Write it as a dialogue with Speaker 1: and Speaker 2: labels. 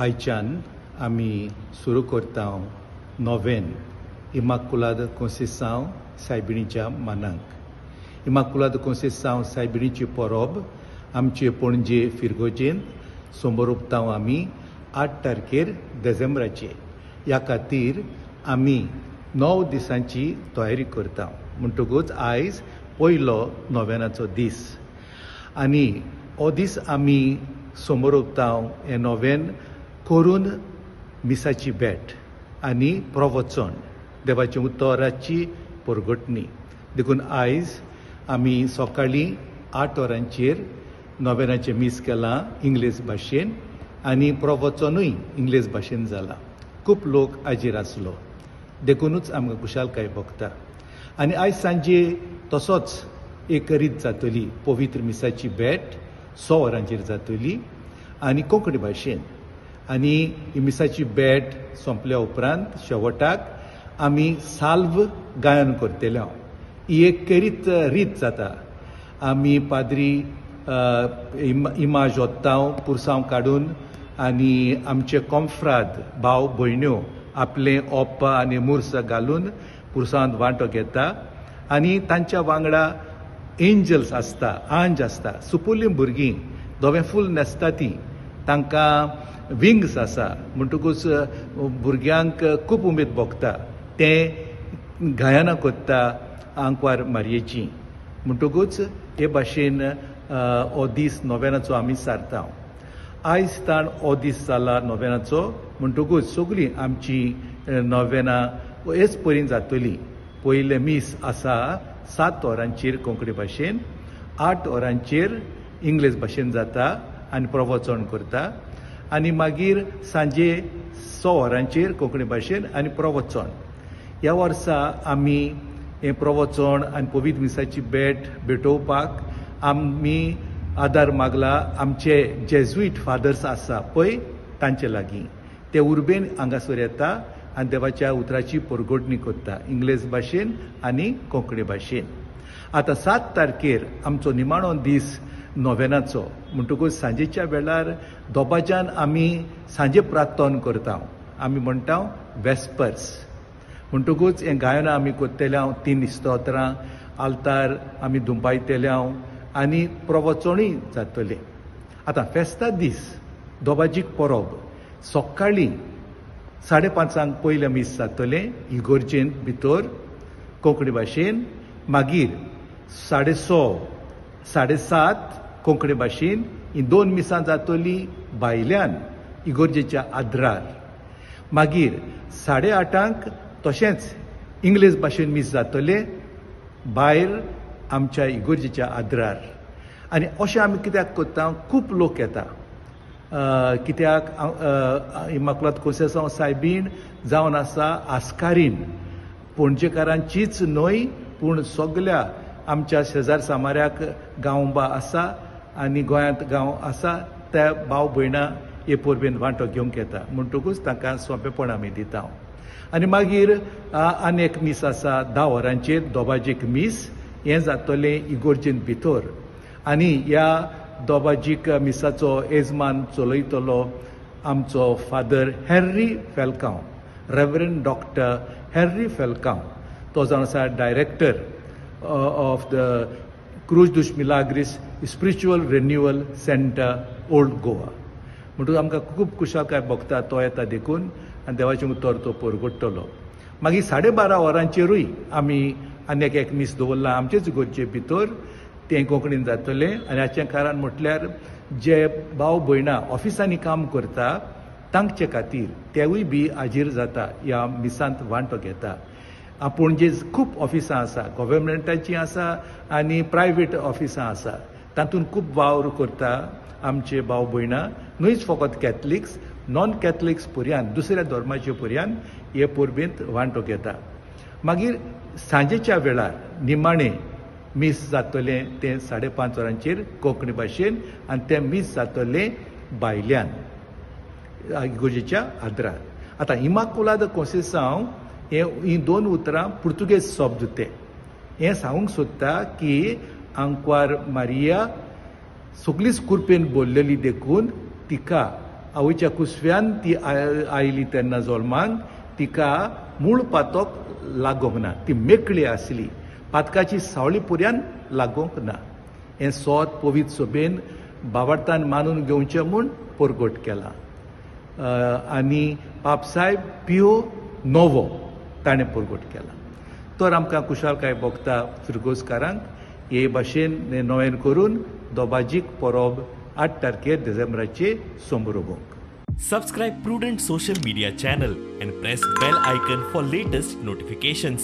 Speaker 1: आयच्यान आमी सुरू करता नोवेन इमाकुलाद कोंसेसांव सायबिणीच्या मानाक. इमाकुलाद कोंसेसांव सायबिणीची परब आमचे पणजे फिरगोजेंत सोमोर उक्ताव आमी 8 तारखेर देसेंब्राचे. ह्या खातीर आमी 9 दिसांची तयारी करता. म्हणटकूच आयज पयलो नोवेनाचो दीस आनी हो दीस आमी समोर उक्ताव हें नोवेन करून मिसाची भेट आनी प्रवचन, देवाच्या उतराची परगटणी. देखून आयज आमी सकाळीं 8 वरांचेर नोवेनाचें मीस केलां इंग्लीश भाशेन आनी प्रवचनूय इंग्लीश भाशेन जालां. खूब लोक हाजीर आसलो देखूनच आमकां खुशालकाय भोगता. आनी आयज सांजे तसोच एक रीत जातली, पवित्र मिसाची भेट 6 वरांचेर जातली आनी कोंकणी भाशेन. आनी ही मिसाची भेट सोंपल्या उपरांत शेवटाक आमी साल्व गायन करतले. ही एक केरीत रीत जाता. आमी पाद्री इमाज ओत्ताव पुरसांव काडून आनी आमचे कोमफ्राद भाव भयण्यो आपलें ओप्पा आनी मुर्स घालून पुरसांत वांटो घेता आनी तांच्या वांगडा एंजल्स आसता, आंज आसता, सुपुल्लीं भुरगीं धवें फूल न्हेसता तीं, तांकां विंग्स आसा. म्हणटकूच भुरग्यांक खूब उमेद भोगता, तें गायनां करता आंकवार मारयेची. म्हणटकूच हे भाशेन हो दीस नोवेनाचो आमी सारता. आयज ताण हो दीस जाला नोवेनाचो. म्हणटकूच सगळीं आमची नोवेनां हेच परीन जातली. पयलें मीस आसा 7 वरांचेर कोंकणी भाशेन, 8 वरांचेर इंग्लीश भाशेन जाता आनी प्रवचन करता आनी मागीर सांजे 6 वरांचेर कोंकणी भाशेन आनी प्रवचन. ह्या वर्सा आमी हें प्रवचन आनी पवित्र मिसाची भेट भेटोवपाक आमी आदार मागला आमचे जेजुईट फादर्स आसा पळय तांचे लागीं. ते उर्बेन हांगासर येता आनी देवाच्या उतराची परगटणी करता इंग्लीश भाशेन आनी कोंकणी भाशेन. आतां 7 तारखेर आमचो निमाणो दीस नोवेनाचो. म्हणटकूच सांजेच्या वेळार दोबाज्यान आमी सांजे प्रार्थना करता. आमी म्हणटा वेस्पर्स. म्हणटकूच हें गायनां आमी करतले, 3 स्तोत्रां, आल्तार आमी दुंपायतले आनी प्रवचनूय जातलें. आतां फेस्ता दीस दोबाजीक परब सकाळीं 5:30 पयलें मीस जातलें इगोर्जेंत भितर कोंकणी भाशेन. मागीर 6:30 7:30 कोंकणी भाशेन ही 2 मिसां जातली भायल्यान इगोर्जेच्या आद्रार. मागीर 8:30 तशेंच इंग्लीश भाशेन मीस जातलें भायर आमच्या इगोर्जेच्या आद्रार. आनी अशें आमी कित्याक करता, खूब लोक येता कित्याक इमाकुलाद कोंसेसांव सायबीण जावन आसा आस्कारीन, पणजेकारांचीच न्हय पूण सगल्या आमच्या शेजार सामाऱ्याक गांवबा आसा आनी गोंयांत गांव आसा त्या भाव भयणां हे परबेन वांटो घेवंक येता. म्हणटकूच तांकां सोंपेपण आमी दिता. आनी मागीर आनी एक मीस आसा 10 वरांचेर दोबाजीक मीस, हें जातलें इगोर्जेंत भितर. आनी ह्या दोबाजीक मिसाचो येजमान चलयतलो आमचो father Henry Falcao, reverend doctor Henry Falcao. तो जावन आसा director of the Cruz dos Milagres spiritual renewal centre old Goa. म्हणटकूच आमकां खूब खुशालकाय भोगता तो येता देखून आनी देवाचें उतर तो परगट्टलो. मागीर 12:30 वरांचेरूय आमी आनी एक मीस दवरलां आमचेच इगोर्जे भितर, तें कोंकणीन जातलें. आनी हाचें कारण म्हटल्यार जे भाव भयणां ऑफिसांनी काम करता तांचे खातीर तेवूय बी हाजीर जाता, ह्या मिसांत वांटो घेता. आपूण जे खूब ऑफिसां आसा, गव्हर्मेंटाचीं आसा आनी प्रायवेट ऑफिसां आसा, तातूंत खूब वावर करता आमचे भाव भयणां, न्हयच फकत कॅथलिक्स, नॉन कॅथलिक्स पर्यान दुसऱ्या धर्माचे पर्यान हे परबेंत वांटो घेता. मागीर सांजेच्या वेळार निमाणें मीस जातलें तें 5:30 वरांचेर कोंकणी भाशेन आनी तें मीस जातलें भायल्यान इगोर्जेच्या आद्रार. आतां इमाकुलाद कोंसेसांव हे हीं 2 उतरां पुर्तुगेज शब्द ते हें सांगूंक सोदता की आंकवार मारिया सगळीच कुरपेन बोल्लेली देखून तिका आवयच्या कुसव्यान ती आयली तेन्ना जल्मांक तिका मूळ पातक लागोंक ना, ती मेकळी आसली, पातकाची सावळी पुऱ्यान लागोंक ना. हें सोद पवित्र सभेन बावडतान मानून घेवचें म्हूण परगट केलां. आनी पापसायब पियो नवो ताणें परगट केला. तर आमकां खुशालकाय भोगता फिरगोजकारांक हे भाशेन नोवेन करून दोबाजीक परब 8 तारखेर डिसेंबराचे समरोवंक.
Speaker 2: Subscribe Prudent social media channel and press bell icon for latest notifications.